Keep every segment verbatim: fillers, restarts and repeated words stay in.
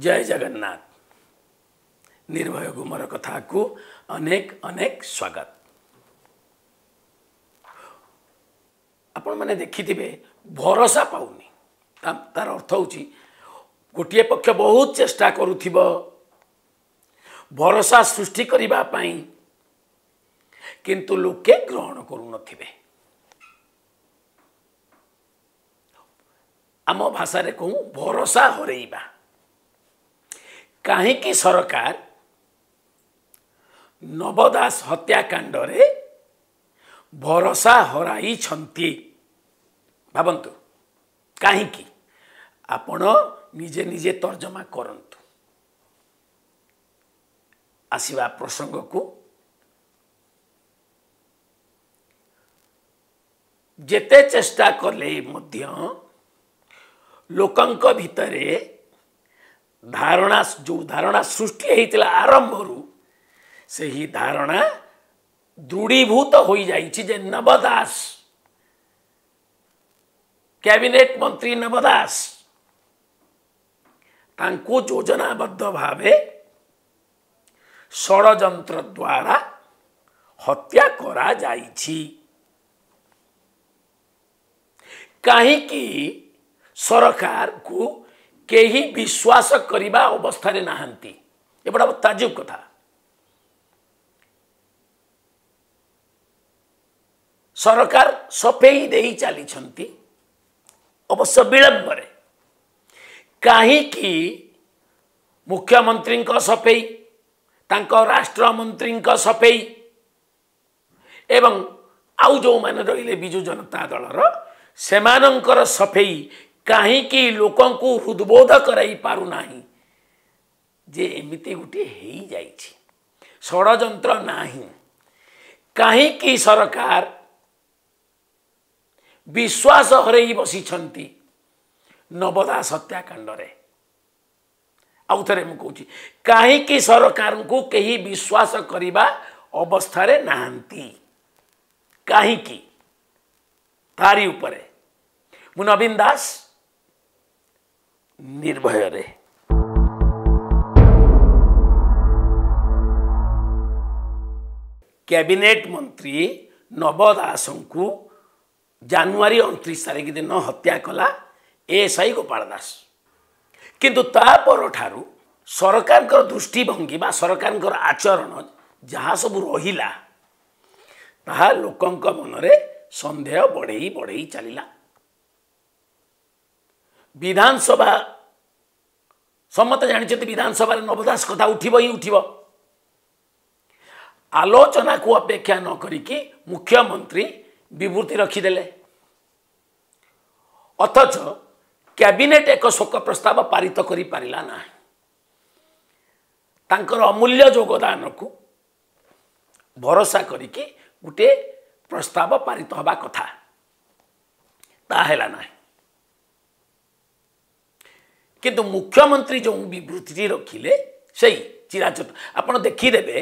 ଜୟ ଜଗନ୍ନାଥ। ନିର୍ଭୟ ଗୁମର କଥାକୁ ଅନେକ ଅନେକ ସ୍ୱାଗତ। ଆପଣମାନେ ଦେଖିଥିବେ ଭରସା ପାଉନି, ତାର ଅର୍ଥ ହେଉଛି ଗୋଟିଏ ପକ୍ଷ ବହୁତ ଚେଷ୍ଟା କରୁଥିବ ଭରସା ସୃଷ୍ଟି କରିବା ପାଇଁ, କିନ୍ତୁ ଲୋକେ ଗ୍ରହଣ କରୁନଥିବେ। ଆମ ଭାଷାରେ କହୁ ଭରସା ହରେଇବା। କାହିଁକି ସରକାର ନବ ଦାସ ହତ୍ୟାକାଣ୍ଡରେ ଭରସା ହରାଇଛନ୍ତି ଭାବନ୍ତୁ, କାହିଁକି? ଆପଣ ନିଜେ ନିଜେ ତର୍ଜମା କରନ୍ତୁ। ଆସିବା ପ୍ରସଙ୍ଗକୁ, ଯେତେ ଚେଷ୍ଟା କଲେ ମଧ୍ୟ ଲୋକଙ୍କ ଭିତରେ ଧାରଣା, ଯେଉଁ ଧାରଣା ସୃଷ୍ଟି ହେଇଥିଲା ଆରମ୍ଭରୁ, ସେହି ଧାରଣା ଦୃଢ଼ୀଭୂତ ହୋଇଯାଇଛି ଯେ ନବ ଦାସ, କ୍ୟାବିନେଟ୍ ମନ୍ତ୍ରୀ ନବ ଦାସ, ତାଙ୍କୁ ଯୋଜନାବଦ୍ଧ ଭାବେ ଷଡ଼ଯନ୍ତ୍ର ଦ୍ୱାରା ହତ୍ୟା କରାଯାଇଛି। କାହିଁକି ସରକାରକୁ କେହି ବିଶ୍ୱାସ କରିବା ଅବସ୍ଥାରେ ନାହାନ୍ତି? ଏ ବଡ଼ ତାଜୁବ କଥା। ସରକାର ସଫେଇ ଦେଇ ଚାଲିଛନ୍ତି, ଅବଶ୍ୟ ବିଳମ୍ବରେ। କାହିଁକି ମୁଖ୍ୟମନ୍ତ୍ରୀଙ୍କ ସଫେଇ, ତାଙ୍କ ରାଷ୍ଟ୍ରମନ୍ତ୍ରୀଙ୍କ ସଫେଇ ଏବଂ ଆଉ ଯେଉଁମାନେ ରହିଲେ ବିଜୁ ଜନତା ଦଳର, ସେମାନଙ୍କର ସଫେଇ କାହିଁକି ଲୋକଙ୍କୁ ହୃଦବୋଧ କରାଇ ପାରୁନାହିଁ ଯେ ଏମିତି ଗୋଟିଏ ହେଇଯାଇଛି, ଷଡ଼ଯନ୍ତ୍ର ନାହିଁ? କାହିଁକି ସରକାର ବିଶ୍ୱାସ ହରେଇ ବସିଛନ୍ତି ନବ ଦାସ ହତ୍ୟାକାଣ୍ଡରେ? ଆଉ ଥରେ ମୁଁ କହୁଛି, କାହିଁକି ସରକାରଙ୍କୁ କେହି ବିଶ୍ୱାସ କରିବା ଅବସ୍ଥାରେ ନାହାନ୍ତି? କାହିଁକି? ତାରି ଉପରେ ମୁଁ ନବୀନ ଦାସ, ନିର୍ଭୟରେ। କ୍ୟାବିନେଟ୍ ମନ୍ତ୍ରୀ ନବ ଦାସଙ୍କୁ ଜାନୁଆରୀ ଅଣତିରିଶ ତାରିଖ ଦିନ ହତ୍ୟା କଲା ଏଏସ୍ଆଇ ଗୋପାଳ ଦାସ। କିନ୍ତୁ ତା ପରଠାରୁ ସରକାରଙ୍କର ଦୃଷ୍ଟିଭଙ୍ଗୀ ବା ସରକାରଙ୍କର ଆଚରଣ ଯାହା ସବୁ ରହିଲା, ତାହା ଲୋକଙ୍କ ମନରେ ସନ୍ଦେହ ବଢ଼େଇ ବଢ଼େଇ ଚାଲିଲା। ବିଧାନସଭା, ସମସ୍ତେ ଜାଣିଛନ୍ତି ବିଧାନସଭାରେ ନବ ଦାସ କଥା ଉଠିବ ହିଁ ଉଠିବ। ଆଲୋଚନାକୁ ଅପେକ୍ଷା ନ କରିକି ମୁଖ୍ୟମନ୍ତ୍ରୀ ବିବୃତ୍ତି ରଖିଦେଲେ, ଅଥଚ କ୍ୟାବିନେଟ୍ ଏକ ଶୋକ ପ୍ରସ୍ତାବ ପାରିତ କରିପାରିଲା ନାହିଁ। ତାଙ୍କର ଅମୂଲ୍ୟ ଯୋଗଦାନକୁ ଭରସା କରିକି ଗୋଟିଏ ପ୍ରସ୍ତାବ ପାରିତ ହେବା କଥା, ତାହା ହେଲା ନାହିଁ। କିନ୍ତୁ ମୁଖ୍ୟମନ୍ତ୍ରୀ ଯେଉଁ ବିବୃତ୍ତିଟି ରଖିଲେ, ସେଇ ଚିରାଚରିତ ଆପଣ ଦେଖିଦେବେ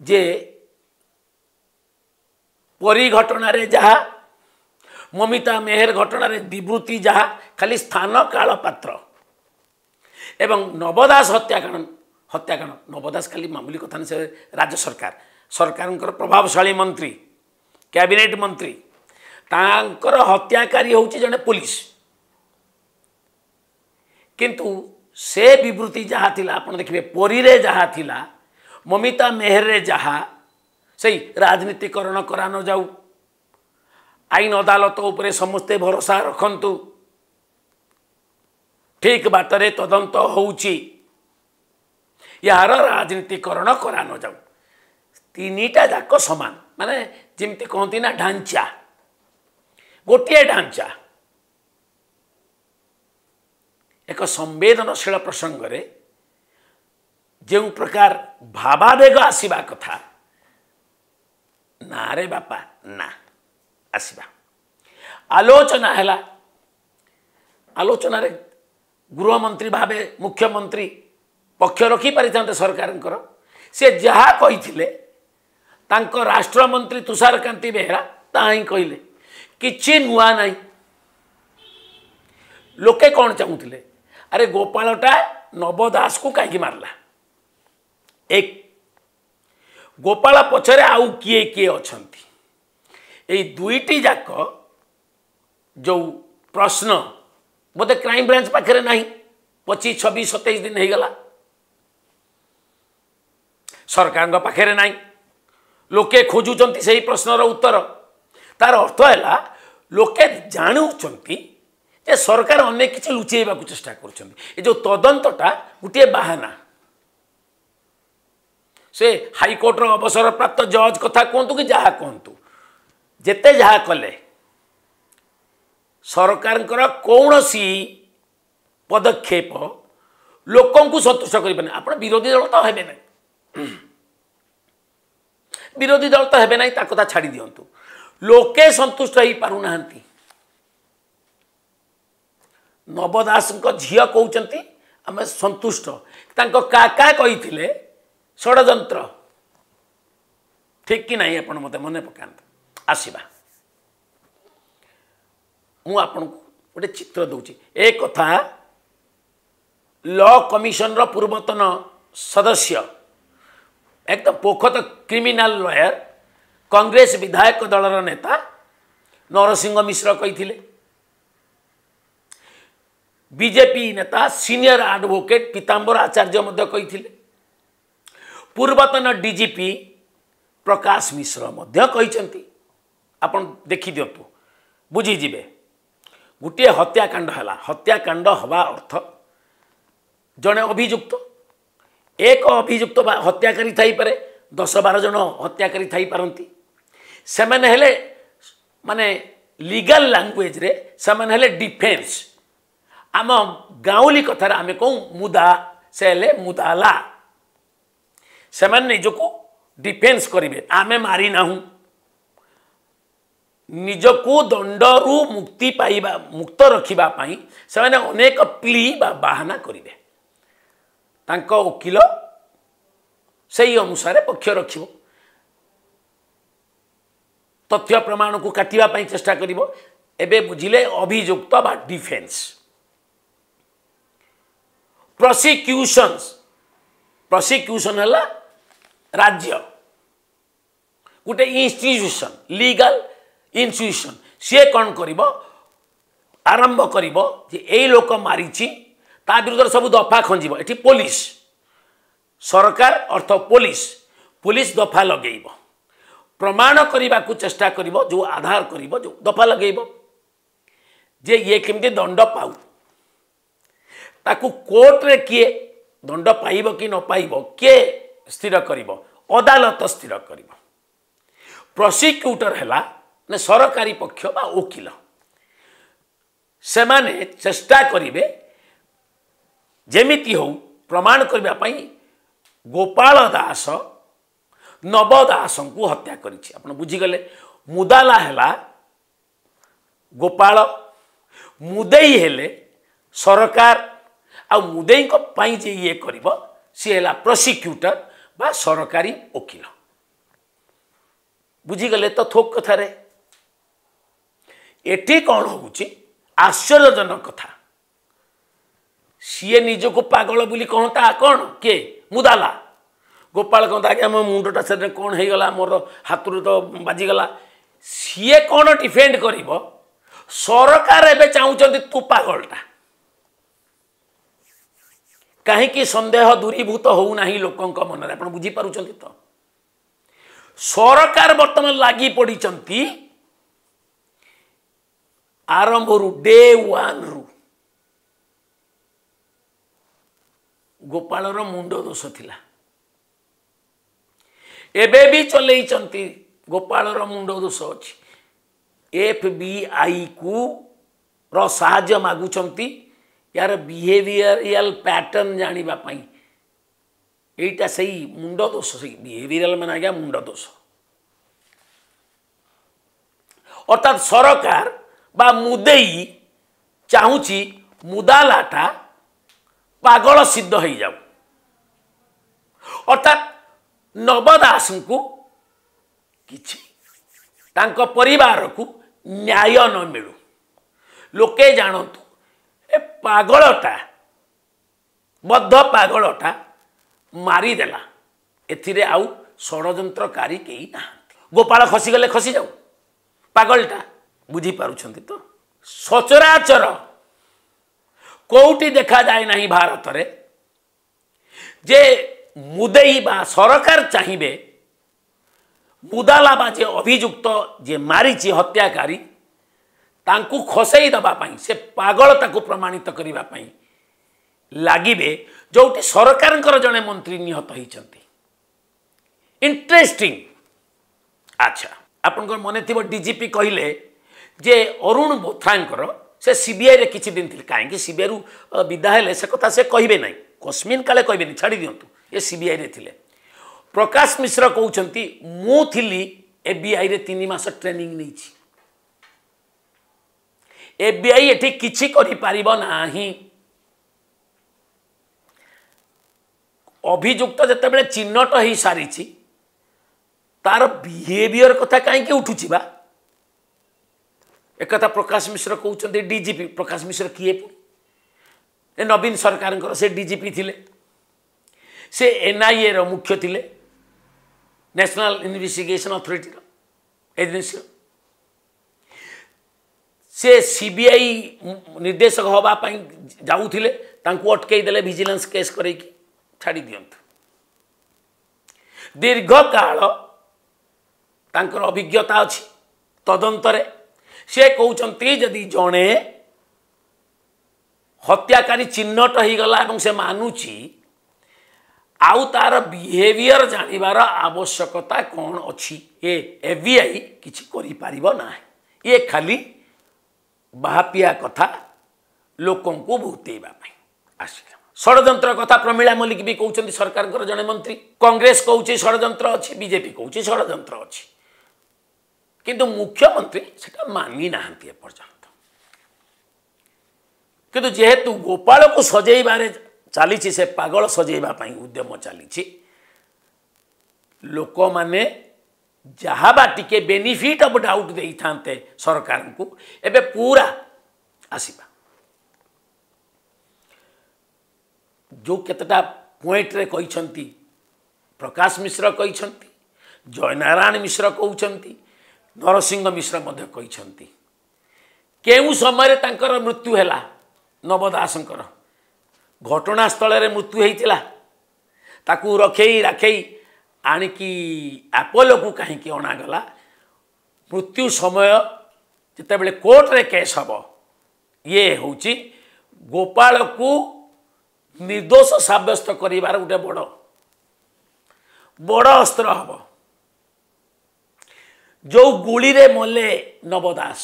ଯେ ପରୀ ଘଟଣାରେ ଯାହା, ମମିତା ମେହେର ଘଟଣାରେ ବିବୃତ୍ତି ଯାହା, ଖାଲି ସ୍ଥାନ କାଳ ପାତ୍ର। ଏବଂ ନବ ଦାସ ହତ୍ୟାକାଣ୍ଡ, ହତ୍ୟାକାଣ୍ଡ ନବ ଦାସ ଖାଲି ମାମୁଲି କଥା ନୁହେଁ, ସେ ରାଜ୍ୟ ସରକାର, ସରକାରଙ୍କର ପ୍ରଭାବଶାଳୀ ମନ୍ତ୍ରୀ, କ୍ୟାବିନେଟ୍ ମନ୍ତ୍ରୀ, ତାଙ୍କର ହତ୍ୟାକାରୀ ହେଉଛି ଜଣେ ପୋଲିସ। କିନ୍ତୁ ସେ ବିବୃତ୍ତି ଯାହା ଥିଲା, ଆପଣ ଦେଖିବେ ପରୀରେ ଯାହା ଥିଲା, ମମିତା ମେହେରରେ ଯାହା, ସେଇ ରାଜନୀତିକରଣ କରା ନଯାଉ, ଆଇନ ଅଦାଲତ ଉପରେ ସମସ୍ତେ ଭରସା ରଖନ୍ତୁ, ଠିକ ବାଟରେ ତଦନ୍ତ ହେଉଛି, ଏହାର ରାଜନୀତିକରଣ କରା ନଯାଉ, ତିନିଟା ଯାକ ସମାନ। ମାନେ ଯେମିତି କହନ୍ତି ନା ଢାଞ୍ଚା, ଗୋଟିଏ ଢାଞ୍ଚା। ଏକ ସମ୍ବେଦନଶୀଳ ପ୍ରସଙ୍ଗରେ ଯେଉଁ ପ୍ରକାର ଭାବାବେଗ ଆସିବା କଥା, ନା ରେ ବାପା ନା ଆସିବା। ଆଲୋଚନା ହେଲା, ଆଲୋଚନାରେ ଗୃହମନ୍ତ୍ରୀ ଭାବେ ମୁଖ୍ୟମନ୍ତ୍ରୀ ପକ୍ଷ ରଖିପାରିଥାନ୍ତେ ସରକାରଙ୍କର। ସେ ଯାହା କହିଥିଲେ ତାଙ୍କ ରାଷ୍ଟ୍ରମନ୍ତ୍ରୀ ତୁଷାରକାନ୍ତି ବେହେରା ତାହା ହିଁ କହିଲେ, କିଛି ନୂଆ ନାହିଁ। ଲୋକେ କ'ଣ ଚାହୁଁଥିଲେ? ଆରେ ଗୋପାଳଟା ନବ ଦାସକୁ କାହିଁକି ମାରିଲା? ଏକ, ଗୋପାଳ ପଛରେ ଆଉ କିଏ କିଏ ଅଛନ୍ତି? ଏଇ ଦୁଇଟି ଯାକ ଯେଉଁ ପ୍ରଶ୍ନ ବୋଧେ କ୍ରାଇମବ୍ରାଞ୍ଚ ପାଖରେ ନାହିଁ। ପଚିଶ ଛବିଶ ସତେଇଶ ଦିନ ହେଇଗଲା, ସରକାରଙ୍କ ପାଖରେ ନାହିଁ। ଲୋକେ ଖୋଜୁଛନ୍ତି ସେହି ପ୍ରଶ୍ନର ଉତ୍ତର। ତାର ଅର୍ଥ ହେଲା ଲୋକେ ଜାଣୁଛନ୍ତି ଯେ ସରକାର ଅନେକ କିଛି ଲୁଚେଇବାକୁ ଚେଷ୍ଟା କରୁଛନ୍ତି। ଏ ଯେଉଁ ତଦନ୍ତଟା ଗୋଟିଏ ବାହାନା। ସେ ହାଇକୋର୍ଟର ଅବସରପ୍ରାପ୍ତ ଜଜ୍ କଥା କୁହନ୍ତୁ କି ଯାହା କୁହନ୍ତୁ, ଯେତେ ଯାହା କଲେ ସରକାରଙ୍କର କୌଣସି ପଦକ୍ଷେପ ଲୋକଙ୍କୁ ସନ୍ତୁଷ୍ଟ କରିପାରେ। ଆପଣ ବିରୋଧୀ ଦଳ ତ ହେବେ ନାହିଁ, ବିରୋଧୀ ଦଳ ତ ହେବେ ନାହିଁ, ତା କଥା ଛାଡ଼ି ଦିଅନ୍ତୁ। ଲୋକେ ସନ୍ତୁଷ୍ଟ ହେଇପାରୁନାହାନ୍ତି। ନବ ଦାସଙ୍କ ଝିଅ କହୁଛନ୍ତି ଆମେ ସନ୍ତୁଷ୍ଟ, ତାଙ୍କ କାକା କହିଥିଲେ ଷଡ଼ଯନ୍ତ୍ର। ଠିକ୍ କି ନାହିଁ ଆପଣ ମୋତେ ମନେ ପକାନ୍ତୁ। ଆସିବା, ମୁଁ ଆପଣଙ୍କୁ ଗୋଟେ ଚିତ୍ର ଦେଉଛି। ଏ କଥା ଲ କମିଶନର ପୂର୍ବତନ ସଦସ୍ୟ, ଏକଦମ ପୋଖତ କ୍ରିମିନାଲ ଲୟର, କଂଗ୍ରେସ ବିଧାୟକ ଦଳର ନେତା ନରସିଂହ ମିଶ୍ର କହିଥିଲେ। ବିଜେପି ନେତା ସିନିୟର ଆଡଭୋକେଟ୍ ପୀତାମ୍ବର ଆଚାର୍ଯ୍ୟ ମଧ୍ୟ କହିଥିଲେ। ପୂର୍ବତନ ଡିଜିପି ପ୍ରକାଶ ମିଶ୍ର ମଧ୍ୟ କହିଛନ୍ତି। ଆପଣ ଦେଖିଦିଅନ୍ତୁ, ବୁଝିଯିବେ। ଗୋଟିଏ ହତ୍ୟାକାଣ୍ଡ ହେଲା। ହତ୍ୟାକାଣ୍ଡ ହେବା ଅର୍ଥ ଜଣେ ଅଭିଯୁକ୍ତ, ଏକ ଅଭିଯୁକ୍ତ ବା ହତ୍ୟାକାରୀ ଥାଇପାରେ, ଦଶ ବାର ଜଣ ହତ୍ୟାକାରୀ ଥାଇପାରନ୍ତି। ସେମାନେ ହେଲେ ମାନେ ଲିଗାଲ ଲାଙ୍ଗୁଏଜରେ ସେମାନେ ହେଲେ ଡିଫେନ୍ସ। ଆମ ଗାଉଁଲି କଥାରେ ଆମେ କହୁ ମୁଦା, ସେ ହେଲେ ମୁଦାଲା। ସେମାନେ ନିଜକୁ ଡିଫେନ୍ସ କରିବେ, ଆମେ ମାରିନାହୁଁ। ନିଜକୁ ଦଣ୍ଡରୁ ମୁକ୍ତି ପାଇବା, ମୁକ୍ତ ରଖିବା ପାଇଁ ସେମାନେ ଅନେକ ପ୍ଲି ବା ବାହାନା କରିବେ। ତାଙ୍କ ଓକିଲ ସେଇ ଅନୁସାରେ ପକ୍ଷ ରଖିବ, ତଥ୍ୟ ପ୍ରମାଣକୁ କାଟିବା ପାଇଁ ଚେଷ୍ଟା କରିବ। ଏବେ ବୁଝିଲେ ଅଭିଯୁକ୍ତ ବା ଡିଫେନ୍ସ। ପ୍ରସିକ୍ୟୁସନ୍ସ, ପ୍ରସିକ୍ୟୁସନ୍ ହେଲା ରାଜ୍ୟ ଗୋଟେ ଇନଷ୍ଟିଟ୍ୟୁସନ୍, ଲିଗାଲ ଇନଷ୍ଟିଟ୍ୟୁସନ୍। ସିଏ କ'ଣ କରିବ? ଆରମ୍ଭ କରିବ ଯେ ଏଇ ଲୋକ ମାରିଛି, ତା ବିରୁଦ୍ଧରେ ସବୁ ଦଫା ଖଞ୍ଜିବ। ଏଠି ପୋଲିସ, ସରକାର ଅର୍ଥ ପୋଲିସ, ପୋଲିସ ଦଫା ଲଗେଇବ, ପ୍ରମାଣ କରିବାକୁ ଚେଷ୍ଟା କରିବ, ଯେଉଁ ଆଧାର କରିବ, ଯେଉଁ ଦଫା ଲଗେଇବ ଯେ ଇଏ କେମିତି ଦଣ୍ଡ ପାଉ। ତାକୁ କୋର୍ଟରେ କିଏ ଦଣ୍ଡ ପାଇବ କି ନ ପାଇବ କିଏ ସ୍ଥିର କରିବ? ଅଦାଲତ ସ୍ଥିର କରିବ। ପ୍ରସିକ୍ୟୁଟର ହେଲା ମାନେ ସରକାରୀ ପକ୍ଷ ବା ଓକିଲ। ସେମାନେ ଚେଷ୍ଟା କରିବେ ଯେମିତି ହଉ ପ୍ରମାଣ କରିବା ପାଇଁ ଗୋପାଳ ଦାସ ନବ ଦାସଙ୍କୁ ହତ୍ୟା କରିଛି। ଆପଣ ବୁଝିଗଲେ, ମୁଦାଲା ହେଲା ଗୋପାଳ, ମୁଦେଇ ହେଲେ ସରକାର, ଆଉ ମୁଦେଇଙ୍କ ପାଇଁ ଯେ ଇଏ କରିବ ସିଏ ହେଲା ପ୍ରସିକ୍ୟୁଟର ବା ସରକାରୀ ଓକିଲ। ବୁଝିଗଲେ ତ ଥୋକ କଥାରେ? ଏଠି କ'ଣ ହେଉଛି ଆଶ୍ଚର୍ଯ୍ୟଜନକ କଥା, ସିଏ ନିଜକୁ ପାଗଳ ବୋଲି କହନ୍ତା କ'ଣ କିଏ? ମୁଦାଲା। ଗୋପାଳ କହନ୍ତା ଆଜ୍ଞା ମୋ ମୁଣ୍ଡଟା ସେଦିନ କ'ଣ ହେଇଗଲା, ମୋର ହାତରୁ ତ ବାଜିଗଲା। ସିଏ କ'ଣ ଡିଫେଣ୍ଡ କରିବ? ସରକାର ଏବେ ଚାହୁଁଛନ୍ତି ତୁ ପାଗଳଟା। କାହିଁକି ସନ୍ଦେହ ଦୂରୀଭୂତ ହେଉନାହିଁ ଲୋକଙ୍କ ମନରେ? ଆପଣ ବୁଝିପାରୁଛନ୍ତି ତ? ସରକାର ବର୍ତ୍ତମାନ ଲାଗି ପଡ଼ିଛନ୍ତି ଆରମ୍ଭରୁ, ଡେ ୱାନ୍ରୁ। ଗୋପାଳର ମୁଣ୍ଡ ଦୋଷ ଥିଲା, ଏବେ ବି ଚଲେଇଛନ୍ତି, ଗୋପାଳର ମୁଣ୍ଡ ଦୋଷ ଅଛି। ଏଫ୍ ବି ଆଇକୁ ର ସାହାଯ୍ୟ ମାଗୁଛନ୍ତି ୟାର ବିହେଭିୟରିଆଲ ପ୍ୟାଟର୍ନ ଜାଣିବା ପାଇଁ। ଏଇଟା ସେଇ ମୁଣ୍ଡ ଦୋଷ, ସେଇ ବିହେଭିୟରାଲ ମାନେ ଆଜ୍ଞା ମୁଣ୍ଡ ଦୋଷ। ଅର୍ଥାତ୍ ସରକାର ବା ମୁଦେଇ ଚାହୁଁଛି ମୁଦାଲାଟା ପାଗଳ ସିଦ୍ଧ ହେଇଯାଉ। ଅର୍ଥାତ୍ ନବ ଦାସଙ୍କୁ କିଛି, ତାଙ୍କ ପରିବାରକୁ ନ୍ୟାୟ ନ ମିଳୁ, ଲୋକେ ଜାଣନ୍ତୁ ଏ ପାଗଳଟା ବଦ୍ଧ ପାଗଳଟା ମାରିଦେଲା, ଏଥିରେ ଆଉ ଷଡ଼ଯନ୍ତ୍ରକାରୀ କେହି ନାହାନ୍ତି। ଗୋପାଳ ଖସିଗଲେ ଖସିଯାଉ, ପାଗଳଟା, ବୁଝିପାରୁଛନ୍ତି ତ? ସଚରାଚର କେଉଁଠି ଦେଖାଯାଏ ନାହିଁ ଭାରତରେ ଯେ ମୁଦେଇ ବା ସରକାର ଚାହିଁବେ ମୁଦାଲା ବା ଯେ ଅଭିଯୁକ୍ତ ଯେ ମାରିଛି ହତ୍ୟାକାରୀ ତାଙ୍କୁ ଖସେଇ ଦେବା ପାଇଁ, ସେ ପାଗଳ ତାକୁ ପ୍ରମାଣିତ କରିବା ପାଇଁ ଲାଗିବେ, ଯେଉଁଠି ସରକାରଙ୍କର ଜଣେ ମନ୍ତ୍ରୀ ନିହତ ହେଇଛନ୍ତି। ଇଣ୍ଟରେଷ୍ଟିଂ। ଆଚ୍ଛା, ଆପଣଙ୍କର ମନେ ଥିବ ଡିଜିପି କହିଲେ ଯେ ଅରୁଣ ବୋଥ୍ରାଙ୍କର ସେ ସିବିଆଇରେ କିଛି ଦିନ ଥିଲେ, କାହିଁକି ସିବିଆଇରୁ ବିଦା ହେଲେ ସେ କଥା ସେ କହିବେ ନାହିଁ, କସ୍ମିନ୍ କାଳେ କହିବେନି, ଛାଡ଼ି ଦିଅନ୍ତୁ, ଏ ସିବିଆଇରେ ଥିଲେ। ପ୍ରକାଶ ମିଶ୍ର କହୁଛନ୍ତି ମୁଁ ଥିଲି ଏଫ୍ବିଆଇରେ ତିନି ମାସ ଟ୍ରେନିଂ ନେଇଛି, ଏଫ୍ବିଆଇ ଏଠି କିଛି କରିପାରିବ ନାହିଁ। ଅଭିଯୁକ୍ତ ଯେତେବେଳେ ଚିହ୍ନଟ ହେଇସାରିଛି ତାର ବିହେଭିଅର କଥା କାହିଁକି ଉଠୁଛି ବା? ଏକଥା ପ୍ରକାଶ ମିଶ୍ର କହୁଛନ୍ତି ଡିଜିପି। ପ୍ରକାଶ ମିଶ୍ର କିଏ ପୁଣି? ଏ ନବୀନ ସରକାରଙ୍କର ସେ ଡିଜିପି ଥିଲେ, ସେ ଏନ୍ଆଇଏର ମୁଖ୍ୟ ଥିଲେ, ନ୍ୟାସନାଲ ଇନଭେଷ୍ଟିଗେସନ ଅଥରିଟିର ଏଜେନ୍ସିର। ସେ ସିବିଆଇ ନିର୍ଦ୍ଦେଶକ ହେବା ପାଇଁ ଯାଉଥିଲେ, ତାଙ୍କୁ ଅଟକେଇ ଦେଲେ ଭିଜିଲାନ୍ସ କେସ୍ କରେଇକି, ଛାଡ଼ି ଦିଅନ୍ତୁ। ଦୀର୍ଘକାଳ ତାଙ୍କର ଅଭିଜ୍ଞତା ଅଛି ତଦନ୍ତରେ। ସେ କହୁଛନ୍ତି ଯଦି ଜଣେ ହତ୍ୟାକାରୀ ଚିହ୍ନଟ ହେଇଗଲା ଏବଂ ସେ ମାନୁଛି, ଆଉ ତାର ବିହେଭିଅର ଜାଣିବାର ଆବଶ୍ୟକତା କ'ଣ ଅଛି? ଏ ଏଫ୍ବିଆଇ କିଛି କରିପାରିବ ନାହିଁ, ଇଏ ଖାଲି ବାହାପିଆ କଥା ଲୋକଙ୍କୁ ଭୂତେଇବା ପାଇଁ ଆସିଲା। ଷଡ଼ଯନ୍ତ୍ର କଥା ପ୍ରମିଳା ମଲ୍ଲିକ ବି କହୁଛନ୍ତି, ସରକାରଙ୍କର ଜଣେ ମନ୍ତ୍ରୀ। କଂଗ୍ରେସ କହୁଛି ଷଡ଼ଯନ୍ତ୍ର ଅଛି, ବିଜେପି କହୁଛି ଷଡ଼ଯନ୍ତ୍ର ଅଛି, କିନ୍ତୁ ମୁଖ୍ୟମନ୍ତ୍ରୀ ସେଟା ମାନି ନାହାନ୍ତି ଏପର୍ଯ୍ୟନ୍ତ। କିନ୍ତୁ ଯେହେତୁ ଗୋପାଳକୁ ସଜେଇବାରେ ଚାଲିଛି, ସେ ପାଗଳ ସଜେଇବା ପାଇଁ ଉଦ୍ୟମ ଚାଲିଛି, ଲୋକମାନେ ଯାହା ବା ଟିକେ ବେନିଫିଟ୍ ଅଫ୍ ଡାଉଟ୍ ଦେଇଥାନ୍ତେ ସରକାରଙ୍କୁ, ଏବେ ପୁରା ଆସିବା। ଯେଉଁ କେତେଟା ପଏଣ୍ଟରେ କହିଛନ୍ତି ପ୍ରକାଶ ମିଶ୍ର କହିଛନ୍ତି, ଜୟନାରାୟଣ ମିଶ୍ର କହୁଛନ୍ତି, ନରସିଂହ ମିଶ୍ର ମଧ୍ୟ କହିଛନ୍ତି, କେଉଁ ସମୟରେ ତାଙ୍କର ମୃତ୍ୟୁ ହେଲା ନବ ଦାସଙ୍କର? ଘଟଣାସ୍ଥଳରେ ମୃତ୍ୟୁ ହେଇଥିଲା, ତାକୁ ରଖେଇ ରାଖେଇ ଆଣିକି ଆପୋଲୋକୁ କାହିଁକି ଅଣାଗଲା? ମୃତ୍ୟୁ ସମୟ ଯେତେବେଳେ କୋର୍ଟରେ କେସ୍ ହେବ, ଇଏ ହେଉଛି ଗୋପାଳକୁ ନିର୍ଦ୍ଦୋଷ ସାବ୍ୟସ୍ତ କରିବାର ଗୋଟେ ବଡ଼ ବଡ଼ ଅସ୍ତ୍ର ହେବ। ଯେଉଁ ଗୁଳିରେ ମଲେ ନବ ଦାସ,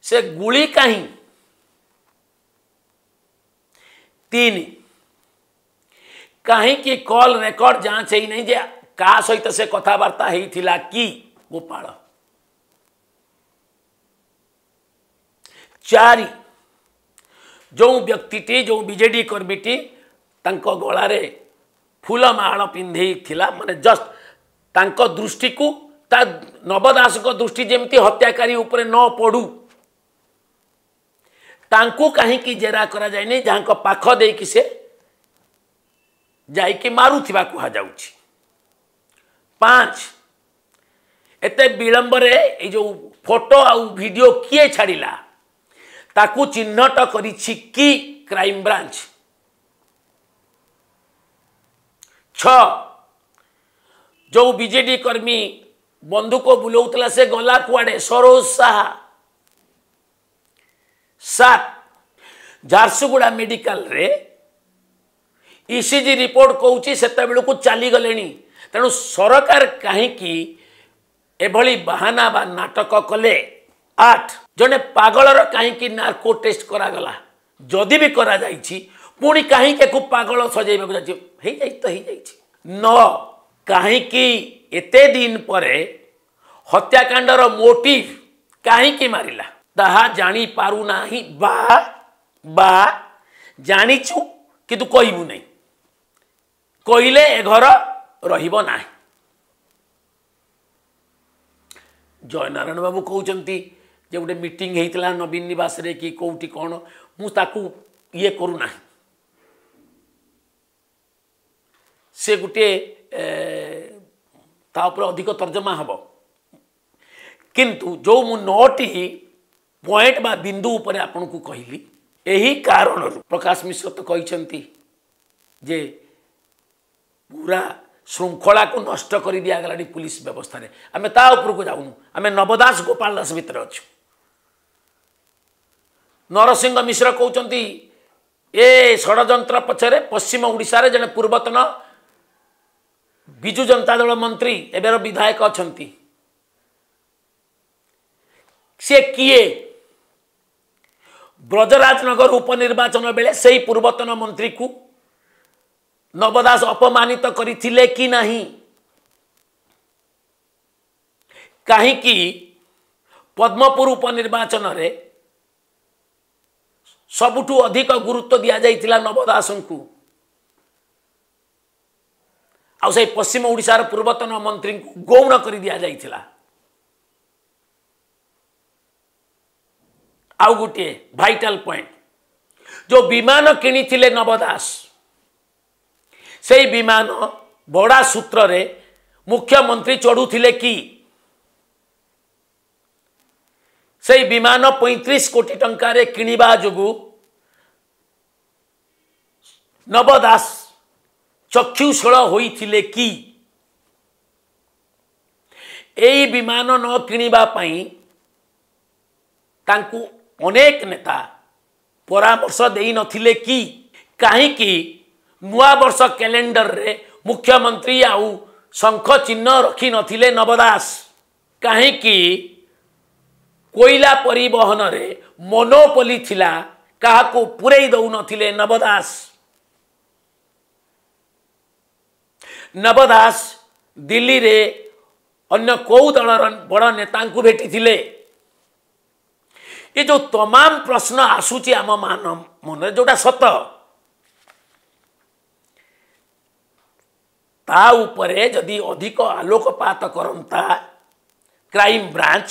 ସେ ଗୁଳି କାହିଁ? ତିନି, କାହିଁକି କଲ୍ ରେକର୍ଡ ଯାଞ୍ଚ ହେଇନାହିଁ ଯେ କାହା ସହିତ ସେ କଥାବାର୍ତ୍ତା ହେଇଥିଲା କି ଗୋପାଳ? ଚାରି, ଯେଉଁ ବ୍ୟକ୍ତିଟି, ଯେଉଁ ବିଜେଡି କର୍ମୀଟି ତାଙ୍କ ଗଳାରେ ଫୁଲମାଳ ପିନ୍ଧେଇଥିଲା, ମାନେ ଜଷ୍ଟ ତାଙ୍କ ଦୃଷ୍ଟିକୁ, ତା ନବ ଦାସଙ୍କ ଦୃଷ୍ଟି ଯେମିତି ହତ୍ୟାକାରୀ ଉପରେ ନ ପଡ଼ୁ, ତାଙ୍କୁ କାହିଁକି ଜେରା କରାଯାଇନି, ଯାହାଙ୍କ ପାଖ ଦେଇକି ସେ ଯାଇକି ମାରୁଥିବା କୁହାଯାଉଛି? ପାଞ୍ଚ, ଏତେ ବିଳମ୍ବରେ ଏଇ ଯେଉଁ ଫଟୋ ଆଉ ଭିଡ଼ିଓ କିଏ ଛାଡ଼ିଲା, ତାକୁ ଚିହ୍ନଟ କରିଛି କି କ୍ରାଇମବ୍ରାଞ୍ଚ? ଛଅ, ଯେଉଁ ବିଜେଡି କର୍ମୀ ବନ୍ଧୁକ ବୁଲଉଥିଲା ସେ ଗଲା କୁଆଡ଼େ? ସରୋଜ ସାହା। ସାତ, ଝାରସୁଗୁଡ଼ା ମେଡିକାଲରେ ଇସିଜି ରିପୋର୍ଟ କହୁଛି ସେତେବେଳକୁ ଚାଲିଗଲେଣି, ତେଣୁ ସରକାର କାହିଁକି ଏଭଳି ବାହାନା ବା ନାଟକ କଲେ? ଆଠ, ଜଣେ ପାଗଳର କାହିଁକି ନାର୍କୋ ଟେଷ୍ଟ କରାଗଲା? ଯଦି ବି କରାଯାଇଛି, ପୁଣି କାହିଁକି ଏକୁ ପାଗଳ ସଜେଇବାକୁ ଯାଉଛି? ହେଇଯାଇଛି ତ ହେଇଯାଇଛି। ନଅ, କାହିଁକି ଏତେ ଦିନ ପରେ ହତ୍ୟାକାଣ୍ଡର ମୋଟିଭ କାହିଁକି ମାରିଲା ତାହା ଜାଣିପାରୁନାହିଁ ବା ବା ଜାଣିଛୁ କିନ୍ତୁ କହିବୁ ନାହିଁ, କହିଲେ ଏ ଘର ରହିବ ନାହିଁ। ଜୟନାରାୟଣ ବାବୁ କହୁଛନ୍ତି ଯେ ଗୋଟେ ମିଟିଂ ହେଇଥିଲା ନବୀନ ନିବାସରେ କି କେଉଁଠି କ'ଣ, ମୁଁ ତାକୁ ଇଏ କରୁନାହିଁ। ସେ ଗୋଟିଏ ତା ଉପରେ ଅଧିକ ତର୍ଜମା ହେବ। କିନ୍ତୁ ଯେଉଁ ମୁଁ ନଅଟି ପଏଣ୍ଟ ବା ବିନ୍ଦୁ ଉପରେ ଆପଣଙ୍କୁ କହିଲି, ଏହି କାରଣରୁ ପ୍ରକାଶ ମିଶ୍ର ତ କହିଛନ୍ତି ଯେ ପୁରା ଶୃଙ୍ଖଳାକୁ ନଷ୍ଟ କରି ଦିଆଗଲାଣି ପୁଲିସ ବ୍ୟବସ୍ଥାରେ। ଆମେ ତା ଉପରକୁ ଯାଉନୁ, ଆମେ ନବଦାସ ଗୋପାଳ ଦାସ ଭିତରେ ଅଛୁ। ନରସିଂହ ମିଶ୍ର କହୁଛନ୍ତି ଏ ଷଡ଼ଯନ୍ତ୍ର ପଛରେ ପଶ୍ଚିମ ଓଡ଼ିଶାରେ ଜଣେ ପୂର୍ବତନ ବିଜୁ ଜନତା ଦଳ ମନ୍ତ୍ରୀ, ଏବେର ବିଧାୟକ ଅଛନ୍ତି। ସେ କିଏ? ବ୍ରଜରାଜନଗର ଉପନିର୍ବାଚନ ବେଳେ ସେଇ ପୂର୍ବତନ ମନ୍ତ୍ରୀକୁ ନବ ଦାସ ଅପମାନିତ କରିଥିଲେ କି ନାହିଁ? କାହିଁକି ପଦ୍ମପୁର ଉପନିର୍ବାଚନରେ ସବୁଠୁ ଅଧିକ ଗୁରୁତ୍ୱ ଦିଆଯାଇଥିଲା ନବ ଦାସଙ୍କୁ, ଆଉ ସେଇ ପଶ୍ଚିମ ଓଡ଼ିଶାର ପୂର୍ବତନ ମନ୍ତ୍ରୀଙ୍କୁ ଗୌଣ କରି ଦିଆଯାଇଥିଲା? ଆଉ ଗୋଟିଏ ଭାଇଟାଲ ପଏଣ୍ଟ, ଯେଉଁ ବିମାନ କିଣିଥିଲେ ନବ ଦାସ, ସେଇ ବିମାନ ଭଡ଼ା ସୂତ୍ରରେ ମୁଖ୍ୟମନ୍ତ୍ରୀ ଚଢ଼ୁଥିଲେ କି? ସେଇ ବିମାନ ପଇଁତିରିଶ କୋଟି ଟଙ୍କାରେ କିଣିବା ଯୋଗୁଁ ନବ ଦାସ ଚକ୍ଷୁଶୂଳ ହୋଇଥିଲେ କି? ଏଇ ବିମାନ ନ କିଣିବା ପାଇଁ ତାଙ୍କୁ ଅନେକ ନେତା ପରାମର୍ଶ ଦେଇନଥିଲେ କି? କାହିଁକି ନୂଆବର୍ଷ କ୍ୟାଲେଣ୍ଡରରେ ମୁଖ୍ୟମନ୍ତ୍ରୀ ଆଉ ଶଙ୍ଖ ଚିହ୍ନ ରଖିନଥିଲେ ନବ ଦାସ? କାହିଁକି କୋଇଲା ପରିବହନରେ ମନୋପଲି ଥିଲା, କାହାକୁ ପୂରେଇ ଦେଉନଥିଲେ ନବ ଦାସ? ନବ ଦାସ ଦିଲ୍ଲୀରେ ଅନ୍ୟ କେଉଁ ଦଳର ବଡ଼ ନେତାଙ୍କୁ ଭେଟିଥିଲେ? ଏ ଯେଉଁ ତମାମ ପ୍ରଶ୍ନ ଆସୁଛି ଆମ ମାନ ମନରେ, ଯେଉଁଟା ସତ, ତା ଉପରେ ଯଦି ଅଧିକ ଆଲୋକପାତ କରନ୍ତା କ୍ରାଇମ ବ୍ରାଞ୍ଚ,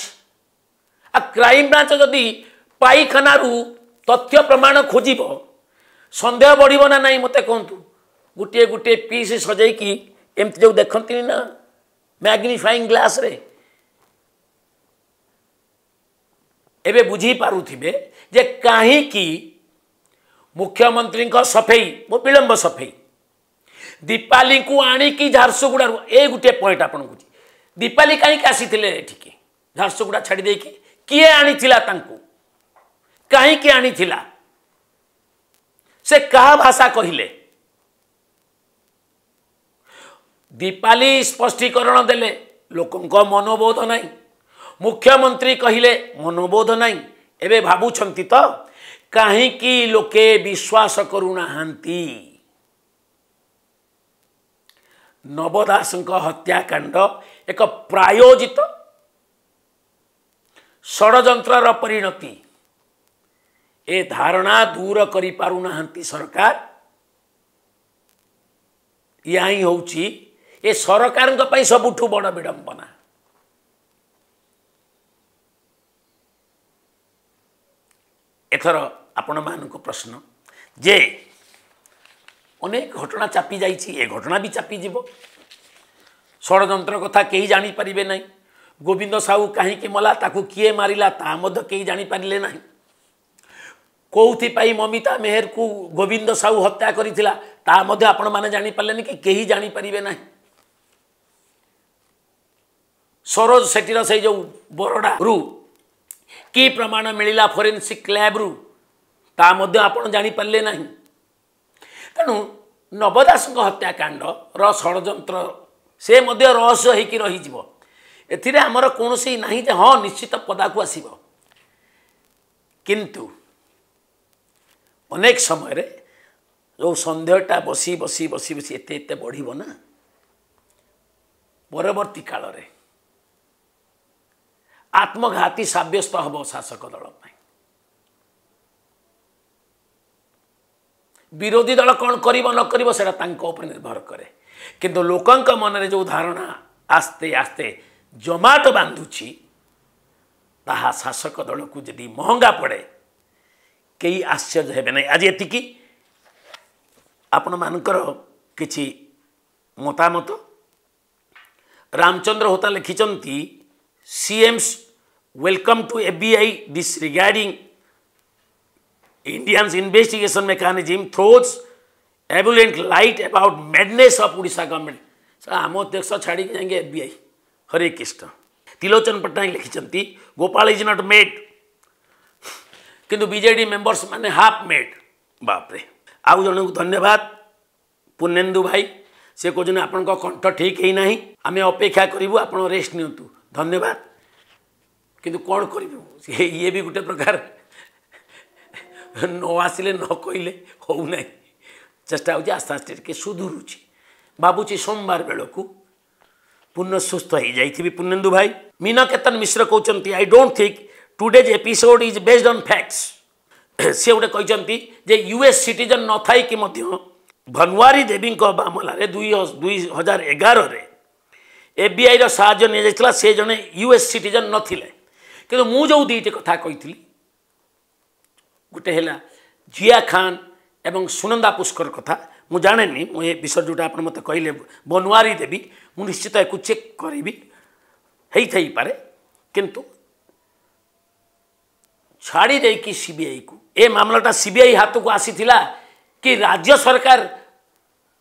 ଆଉ କ୍ରାଇମ ବ୍ରାଞ୍ଚ ଯଦି ପାଇଖାନାରୁ ତଥ୍ୟ ପ୍ରମାଣ ଖୋଜିବ, ସନ୍ଦେହ ବଢ଼ିବ ନା ନାହିଁ ମୋତେ କୁହନ୍ତୁ? ଗୋଟିଏ ଗୋଟିଏ ପିସ୍ ସଜେଇକି ଏମିତି ଯେଉଁ ଦେଖନ୍ତିନି ନା ମ୍ୟାଗ୍ନିଫାଇଂ ଗ୍ଲାସ୍ରେ, ଏବେ ବୁଝିପାରୁଥିବେ ଯେ କାହିଁକି ମୁଖ୍ୟମନ୍ତ୍ରୀଙ୍କ ସଫେଇ, ବିଳମ୍ବ ସଫେଇ, ଦୀପାଲିଙ୍କୁ ଆଣିକି ଝାରସୁଗୁଡ଼ାରୁ, ଏ ଗୋଟିଏ ପଏଣ୍ଟ ଆପଣଙ୍କୁ, ଦୀପାଲି କାହିଁକି ଆସିଥିଲେ ଏଠିକି ଝାରସୁଗୁଡ଼ା ଛାଡ଼ି ଦେଇକି? କିଏ ଆଣିଥିଲା ତାଙ୍କୁ? କାହିଁକି ଆଣିଥିଲା? ସେ କାହା ଭାଷା କହିଲେ? ଦୀପାଲି ସ୍ପଷ୍ଟୀକରଣ ଦେଲେ, ଲୋକଙ୍କ ମନୋବୋଧ ନାହିଁ। ମୁଖ୍ୟମନ୍ତ୍ରୀ କହିଲେ, ମନୋବୋଧ ନାହିଁ। ଏବେ ଭାବୁଛନ୍ତି ତ କାହିଁକି ଲୋକେ ବିଶ୍ୱାସ କରୁନାହାନ୍ତି? ନବ ଦାସଙ୍କ ହତ୍ୟାକାଣ୍ଡ ଏକ ପ୍ରାୟୋଜିତ ଷଡ଼ଯନ୍ତ୍ରର ପରିଣତି, ଏ ଧାରଣା ଦୂର କରିପାରୁନାହାନ୍ତି ସରକାର। ଏହା ହିଁ ହେଉଛି ଏ ସରକାରଙ୍କ ପାଇଁ ସବୁଠୁ ବଡ଼ ବିଡ଼ମ୍ବନା। ଏଥର ଆପଣମାନଙ୍କୁ ପ୍ରଶ୍ନ ଯେ ଅନେକ ଘଟଣା ଚାପି ଯାଇଛି, ଏ ଘଟଣା ବି ଚାପିଯିବ। ଷଡ଼ଯନ୍ତ୍ର କଥା କେହି ଜାଣିପାରିବେ ନାହିଁ। ଗୋବିନ୍ଦ ସାହୁ କାହିଁକି ମଲା, ତାକୁ କିଏ ମାରିଲା, ତାହା ମଧ୍ୟ କେହି ଜାଣିପାରିଲେ ନାହିଁ। କେଉଁଥିପାଇଁ ମମିତା ମେହେରକୁ ଗୋବିନ୍ଦ ସାହୁ ହତ୍ୟା କରିଥିଲା, ତାହା ମଧ୍ୟ ଆପଣମାନେ ଜାଣିପାରିଲେନି କି କେହି ଜାଣିପାରିବେ ନାହିଁ। ସରୋଜ ସେଠୀର ସେଇ ଯେଉଁ ବରଡ଼ାରୁ କି ପ୍ରମାଣ ମିଳିଲା ଫୋରେନ୍ସିକ୍ ଲ୍ୟାବ୍ରୁ, ତା ମଧ୍ୟ ଆପଣ ଜାଣିପାରିଲେ ନାହିଁ। ତେଣୁ ନବ ଦାସଙ୍କ ହତ୍ୟାକାଣ୍ଡର ଷଡ଼ଯନ୍ତ୍ର ସେ ମଧ୍ୟ ରହସ୍ୟ ହେଇକି ରହିଯିବ। ଏଥିରେ ଆମର କୌଣସି ନାହିଁ ଯେ ହଁ ନିଶ୍ଚିତ ପଦାକୁ ଆସିବ। କିନ୍ତୁ ଅନେକ ସମୟରେ ଯେଉଁ ସନ୍ଦେହଟା ବସି ବସି ବସି ବସି ଏତେ ଏତେ ବଢ଼ିବ ନା, ପରବର୍ତ୍ତୀ କାଳରେ ଆତ୍ମଘାତୀ ସାବ୍ୟସ୍ତ ହେବ ଶାସକ ଦଳ ପାଇଁ। ବିରୋଧୀ ଦଳ କ'ଣ କରିବ ନ କରିବ ସେଇଟା ତାଙ୍କ ଉପରେ ନିର୍ଭର କରେ। କିନ୍ତୁ ଲୋକଙ୍କ ମନରେ ଯେଉଁ ଧାରଣା ଆସ୍ତେ ଆସ୍ତେ ଜମାଟ ବାନ୍ଧୁଛି, ତାହା ଶାସକ ଦଳକୁ ଯଦି ମହଙ୍ଗା ପଡ଼େ କେହି ଆଶ୍ଚର୍ଯ୍ୟ ହେବେ ନାହିଁ। ଆଜି ଏତିକି। ଆପଣମାନଙ୍କର କିଛି ମତାମତ। ରାମଚନ୍ଦ୍ର ହୋତା ଲେଖିଛନ୍ତି, C M's welcome to F B I disregarding Indians investigation mechanism throws ebullient light about madness of Odisha government। ଆମ ଦେଶ ଛାଡ଼ିକି ଯାଇକି F B I. Hare Krishna. Trilochan Patnaik ଲେଖିଛନ୍ତି, ଗୋପାଳ is not made, କିନ୍ତୁ ବିଜେଡ଼ି ମେମ୍ବର୍ସ ମାନେ half made. ବାପରେ। ଆଉ ଜଣଙ୍କୁ ଧନ୍ୟବାଦ, ପୂର୍ଣ୍ଣେନ୍ଦୁ ଭାଇ। ସେ କହୁଛନ୍ତି, ଆପଣଙ୍କ କଣ୍ଠ ଠିକ୍ ହେଇନାହିଁ, ଆମେ ଅପେକ୍ଷା କରିବୁ, ଆପଣ ରେଷ୍ଟ ନିଅନ୍ତୁ। ଧନ୍ୟବାଦ। କିନ୍ତୁ କ'ଣ କରିବୁ, ଇଏ ବି ଗୋଟେ ପ୍ରକାର ନ ଆସିଲେ ନ କହିଲେ ହେଉନାହିଁ। ଚେଷ୍ଟା ହେଉଛି, ଆସ୍ତେ ଆସ୍ତେ ଟିକେ ସୁଧୁରୁଛି। ଭାବୁଛି ସୋମବାର ବେଳକୁ ପୂର୍ଣ୍ଣ ସୁସ୍ଥ ହେଇଯାଇଥିବି ପୂର୍ଣ୍ଣେନ୍ଦୁ ଭାଇ। ମୀନକେତନ ମିଶ୍ର କହୁଛନ୍ତି, I don't think today's episode is based on facts। ସେ ଗୋଟେ କହିଛନ୍ତି ଯେ ୟୁ ଏସ୍ ସିଟିଜେନ୍ ନଥାଇକି ମଧ୍ୟ ଭନୱାରୀ ଦେବୀଙ୍କ ମାମଲାରେ ଦୁଇ ଦୁଇ ହଜାର ଏଗାରରେ ଏଫ୍ବିଆଇର ସାହାଯ୍ୟ ନିଆଯାଇଥିଲା। ସେ ଜଣେ ୟୁ ଏସ୍ ସିଟିଜେନ୍ ନଥିଲେ। କିନ୍ତୁ ମୁଁ ଯେଉଁ ଦୁଇଟି କଥା କହିଥିଲି, ଗୋଟେ ହେଲା ଜିଆ ଖାନ୍ ଏବଂ ସୁନନ୍ଦା ପୁଷ୍କର କଥା, ମୁଁ ଜାଣେନି। ମୁଁ ଏ ବିଷୟ ଯେଉଁଟା ଆପଣ ମୋତେ କହିଲେ ବନୱାରୀ ଦେବୀ, ମୁଁ ନିଶ୍ଚିତ ୟାକୁ ଚେକ୍ କରିବି, ହେଇଥାଇପାରେ। କିନ୍ତୁ ଛାଡ଼ି ଦେଇକି ସିବିଆଇକୁ, ଏ ମାମଲାଟା ସିବିଆଇ ହାତକୁ ଆସିଥିଲା କି ରାଜ୍ୟ ସରକାର,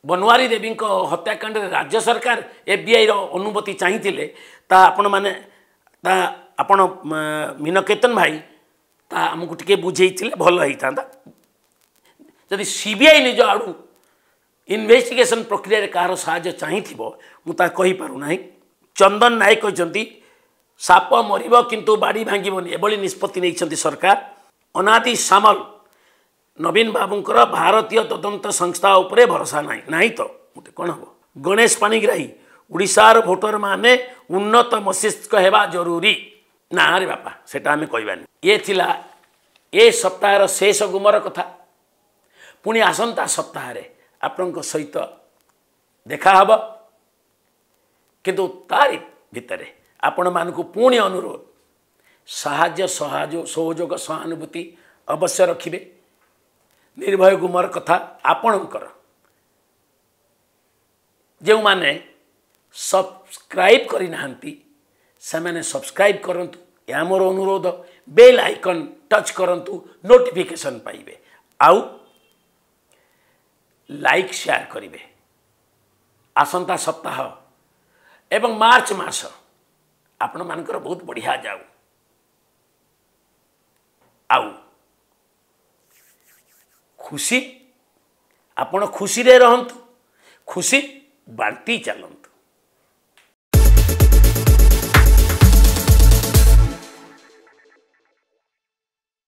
ବନୱାରୀ ଦେବୀଙ୍କ ହତ୍ୟାକାଣ୍ଡରେ ରାଜ୍ୟ ସରକାର ଏଫ୍ବିଆଇର ଅନୁମତି ଚାହିଁଥିଲେ, ତା ଆପଣମାନେ ତା ଆପଣ ମୀନକେତନ ଭାଇ ତା ଆମକୁ ଟିକେ ବୁଝେଇଥିଲେ ଭଲ ହେଇଥାନ୍ତା। ଯଦି ସିବିଆଇ ନିଜ ଆଡ଼ୁ ଇନଭେଷ୍ଟିଗେସନ୍ ପ୍ରକ୍ରିୟାରେ କାହାର ସାହାଯ୍ୟ ଚାହିଁଥିବ, ମୁଁ ତାହା କହିପାରୁନାହିଁ। ଚନ୍ଦନ ନାୟକ କହିଛନ୍ତି, ସାପ ମରିବ କିନ୍ତୁ ବାଡ଼ି ଭାଙ୍ଗିବନି, ଏଭଳି ନିଷ୍ପତ୍ତି ନେଇଛନ୍ତି ସରକାର। ଅନାଦି ସାମଲ, ନବୀନ ବାବୁଙ୍କର ଭାରତୀୟ ତଦନ୍ତ ସଂସ୍ଥା ଉପରେ ଭରସା ନାହିଁ। ନାହିଁ ତ ଗୋଟେ କ'ଣ ହେବ? ଗଣେଶ ପାଣିଗ୍ରାହୀ, ଓଡ଼ିଶାର ଭୋଟରମାନେ ଉନ୍ନତ ମସ୍ତିଷ୍କ ହେବା ଜରୁରୀ। ନା ରେ ବାପା, ସେଟା ଆମେ କହିବାନି। ଇଏ ଥିଲା ଏ ସପ୍ତାହର ଶେଷ ଗୁମର କଥା। ପୁଣି ଆସନ୍ତା ସପ୍ତାହରେ ଆପଣଙ୍କ ସହିତ ଦେଖାହେବ। କିନ୍ତୁ ତାରି ଭିତରେ ଆପଣମାନଙ୍କୁ ପୁଣି ଅନୁରୋଧ, ସାହାଯ୍ୟ, ସହଯୋଗ ସହଯୋଗ ସହାନୁଭୂତି ଅବଶ୍ୟ ରଖିବେ। ନିର୍ଭୟ ଗୁମର କଥା ଆପଣଙ୍କର। ଯେଉଁମାନେ ସବସ୍କ୍ରାଇବ୍ କରିନାହାନ୍ତି, ସେମାନେ ସବସ୍କ୍ରାଇବ୍ କରନ୍ତୁ, ଏହା ମୋର ଅନୁରୋଧ। ବେଲ୍ ଆଇକନ୍ ଟଚ୍ କରନ୍ତୁ, ନୋଟିଫିକେସନ୍ ପାଇବେ। ଆଉ ଲାଇକ୍, ସେୟାର କରିବେ। ଆସନ୍ତା ସପ୍ତାହ ଏବଂ ମାର୍ଚ୍ଚ ମାସ ଆପଣମାନଙ୍କର ବହୁତ ବଢ଼ିଆ ଯାଉ। ଆଉ ଖୁସି, ଆପଣ ଖୁସିରେ ରହନ୍ତୁ, ଖୁସି ବାଣ୍ଟି ଚାଲନ୍ତୁ।